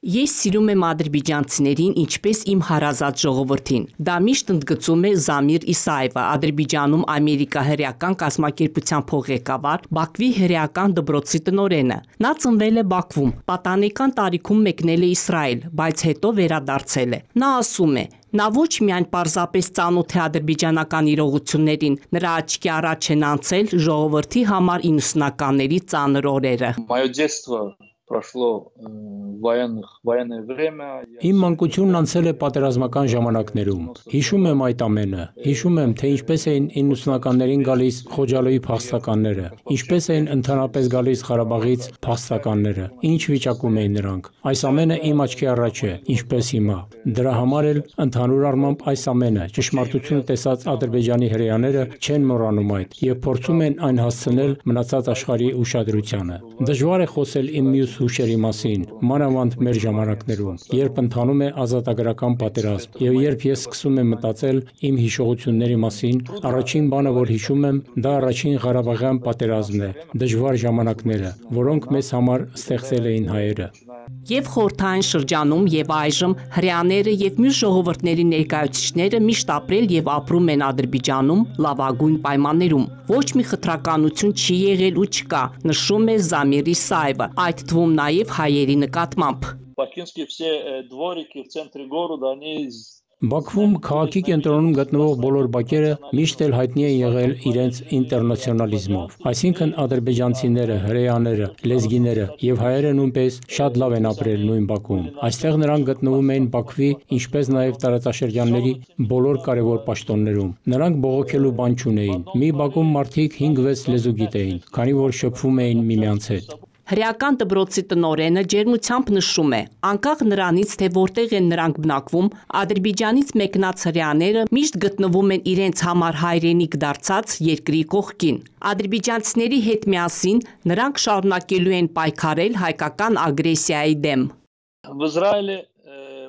Ես սիրում եմ ադրբեջանցիներին ինչպես իմ հարազատ ժողովրդին։ Դա միշտ ընդգծում է Զամիր Իսայևը, Ադրբեջանում Ամերիկա հրեական կազմակերպության փոխղեկավար, Բաքվի հրեական դպրոցի տնօրենը։ Նա ծնվել է Բաքվում, պատանեկան տարիքում մեկնել է Իսրայել, բայց հետո վերադարձել է։ Նա ասում է. Նա ոչ միայն պարզապես ծանոթ է ադրբեջանական իրողություններին, նրա աչքի առաջ են անցել ժողովրդի համար 90-ականների ծանր օրերը։ Իմ մանկությունն անցել է պատերազմական ժամանակներում։ Հիշում եմ այդ ամենը։ Հիշում եմ, թե ինչպես էին 90-ականներին գալիս Խոջալոյի փախստականները, ինչպես էին ընդհանրապես գալիս Ղարաբաղից փախստականները, ինչ վիճակում էին նրանք։ Այս ամենը իմ աչքի առաջ է, ինչպես հիմա։ Դրա համար էլ ընդհանուր առմամբ այս ամենը ճշմարտությունը տեսած Ադրբեջանի հրեաները չեն մոռանում այդ եւ փորձում են այն հասցնել մնացած աշխարհի ուշադրությանը։ Դժվար է խոսել իմ մյուս հուշերի մասին, մանավանդ մեր ժամանակներում, երբ ընթանում է ազատագրական պատերազմ, եւ երբ ես սկսում եմ մտածել իմ հիշողությունների մասին, առաջին բանը, որ հիշում եմ, դա առաջին Ղարաբաղյան պատերազմն է, դժվար ժամանակները, որոնք մեզ համար ստեղծել էին հայերը։ Եվ խորհրդային շրջանում եւ այժմ հրեաները եւ մյուս ժողովուրդների ներկայացուցիչները միշտ ապրել եւ ապրում են Ադրբեջանում լավագույն պայմաններում։ Ոչ մի խտրականություն չի եղել ու չկա, նշում է Զամիր Իսայևը, այդ թվում նաեւ հայերի նկատմամբ։ Բաքվում քաղաքի կենտրոնում գտնվող բոլոր բակերը միշտ էլ հայտնի են եղել իրենց ինտերնացիոնալիզմով, այսինքն ադրբեջանցիները, հրեաները, լեզգիները եւ հայերը նույնպես շատ լավ են ապրել նույն բակում։ Այստեղ նրանք գտնվում էին Բաքվի, ինչպես նաեւ տարածաշրջանների բոլոր կարևոր պաշտոններում։ Նրանք բողոքելու բան չունեին։ Մի բակում մարդիկ 5-6 լեզու գիտեին, քանի որ շփվում էին միմյանց հետ։ Հրեական դպրոցի տնօրենը ջերմությամբ նշում է, անկախ նրանից, թե որտեղ են նրանք բնակվում, Ադրբեջանից մեկնած հրեաները միշտ գտնվում են իրենց համար հայրենիք դարձած երկրի կողքին։ Ադրբեջանցիների հետ միասին նրանք շարունակելու են պայքարել հայկական ագրեսիայի դեմ։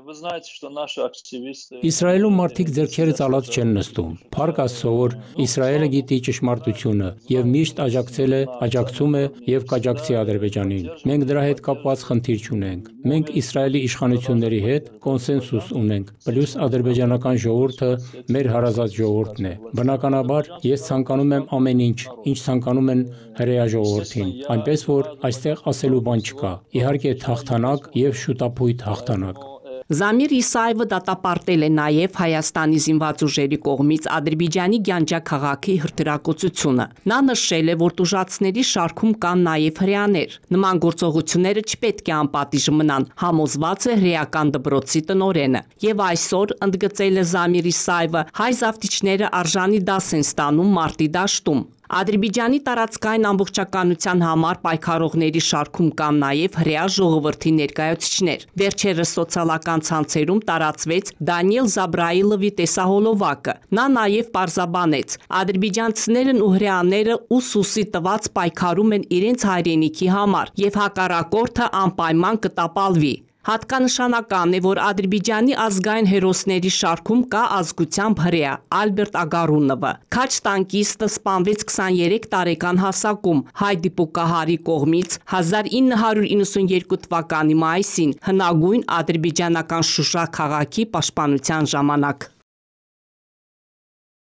Իսրայելում մարդիկ ձեռքերը ծալած չեն նստում։ Փառք Աստծո, որ Իսրայելը գիտի ճշմարտությունը եւ միշտ աջակցում է եւ կաջակցի Ադրբեջանին։ Մենք դրա հետ կապված խնդիր չունենք։ Մենք Իսրայելի իշխանությունների հետ կոնսենսուս ունենք, պլյուս ադրբեջանական ժողովուրդը մեր հարազատ ժողովուրդն է։ Բնականաբար, ես ցանկանում եմ ամեն ինչ ցանկանում են հրեա ժողովրդին, այնպես որ այստեղ ասելու բան չկա։ Իհարկե թաղթանակ եւ շուտապույտ հաղթանակ։ Զամիր Իսայևը դատապարտել է նաև Հայաստանի զինված ուժերի կողմից Ադրբեջանի Գանջա քաղաքի հրթիռակոծությունը։ Նա նշել է, որ տուժածների շարքում կան նաև հրեաներ։ Նման գործողությունները չպետք է անպատիժ մնան, համոզված է հրեական դպրոցի տնօրենը։ Եվ այսօր, ընդգծել է Զամիր Իսայևը, հայ զավթիչները արժանի դաս են ստանում մարտի դաշտում։ Ադրբեջանի տարածքային ամբողջականության համար պայքարողների շարքում կան նաև հրեա ժողովրդի ներկայացուցիչներ։ Վերջերս սոցիալական ցանցերում տարածվեց Դանիել Զաբրայիլովի տեսահոլովակը։ Նա նաև պարզաբանեց. ադրբեջանցիներն ու հրեաները ուսուսի տված պայքարում են իրենց հայրենիքի համար, եւ հակառակորդը անպայման կտապալվի։ Հատկանշանական է, որ Ադրբեջանի ազգային հերոսների շարքում կա ազգությամբ հրեա Ալբերտ Ագարունովը։ Քաջ տանկիստը սպանվեց 23 տարեկան հասակում հայ դիպուկահարի կողմից 1992 թվականի մայիսին հնագույն ադրբեջանական Շուշա քաղաքի պաշտպանության ժամանակ։